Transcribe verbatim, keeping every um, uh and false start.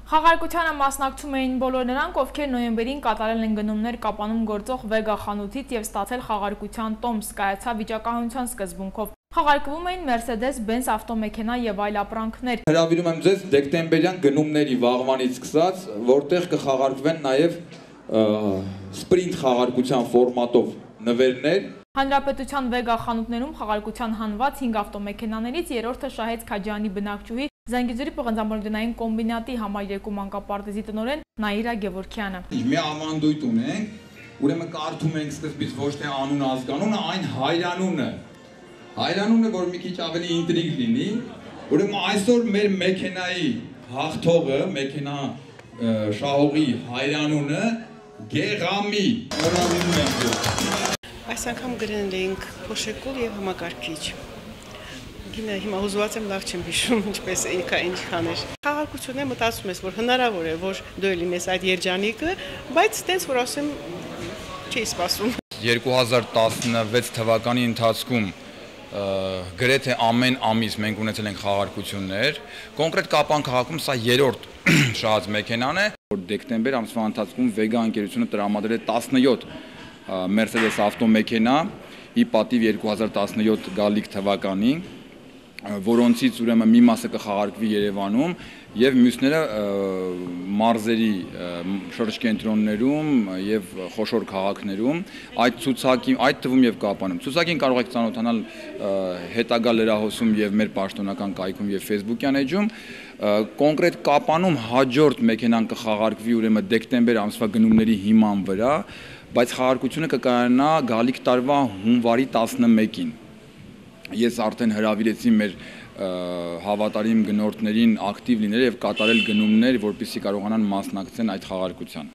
Խաղարկությանը մասնակցում էին բոլոր նրանք, ովքեր նոյեմբերին կատարել են գնումներ Կապանում գործող Վեգա խանութից և ստացել խաղարկության տոմս, կայացավ վիճակահանության սկզբունքով։ Խաղարկվում էին Mercedes-Benz ավտոմեքենա և այլ ապրանքներ։ Հրավիրում եմ ձեզ դեկտեմբերյան գնումների վաղվանից սկսած, որտեղ կխաղարկվեն նաև սպրինտ խաղարկության ֆորմատով նվերներ։ Հանրապետության Վեգա խանութներում խաղարկության հանված հինգ ավտոմեքենաներից երրորդը շահեց Քաջարյանի բնակչուհի Զանգեզուրի պղնձամոլորգնային կոմբինատի համար երկու մանկապարտեզի տնօրեն Նաիրա Գևորգյանը։ Մի ավանդույթ ունենք, ուրեմն կարդում ենք սկզբից ոչ թե անուն ազգանունը, այն հայրանունը։ Հայրանունը, որ մի քիչ ավելի ինտրիգ լինի, ուրեմն այսօր մեր մեքենայի հաղթողը, մեքենա շահողի հայրանունը Գեղամի։ Շնորհավորում ենք։ Այս անգամ գրել էինք փոշեկուլ և համակարգիչ։ Գինը հիմա հուզված եմ, լավ չեմ հիշում, ինչպես ինքա ինչքան էր։ Խաղարկությունն է, մտածում ես, որ հնարավոր է, որ դու լինես այդ երջանիկը, բայց տենց որ ասեմ, չի սպասում։ երկու հազար տասնվեց թվականի ընթացքում գրեթե ամեն ամիս մենք ունեցել ենք խաղարկություններ։ Կոնկրետ Կապան քաղաքում սա երրորդ շահած մեքենան է, որ դեկտեմբեր ամսվա ընթացքում Վեգա ընկերությունը տրամադրել է տասնյոթ Mercedes ավտոմեքենա, ի պատիվ երկու հազար տասնյոթ գալիք թվականի, որոնցից ուրեմն մի մասը կխաղարկվի Երևանում և մյուսները մարզերի շրջկենտրոններում և խոշոր քաղաքներում, այդ ցուցակի, այդ թվում և Կապանում։ Ցուցակին կարող եք ծանոթանալ հետագա լրահոսում և մեր պաշտոնական կայքում և Facebook-յան էջում։ Կոնկրետ Կապանում հաջորդ մեքենան կխաղարկվի ուրեմն դեկտեմբեր ամսվա գնումների հիման վրա, բայց խաղարկությունը կկայանա գալիք տարվա հունվարի տասնմեկին։ Ես արդեն հրավիրեցի մեր հավատարիմ գնորդներին ակտիվ լինել և կատարել գնումներ, որպեսզի կարողանան մասնակցել այդ խաղարկության։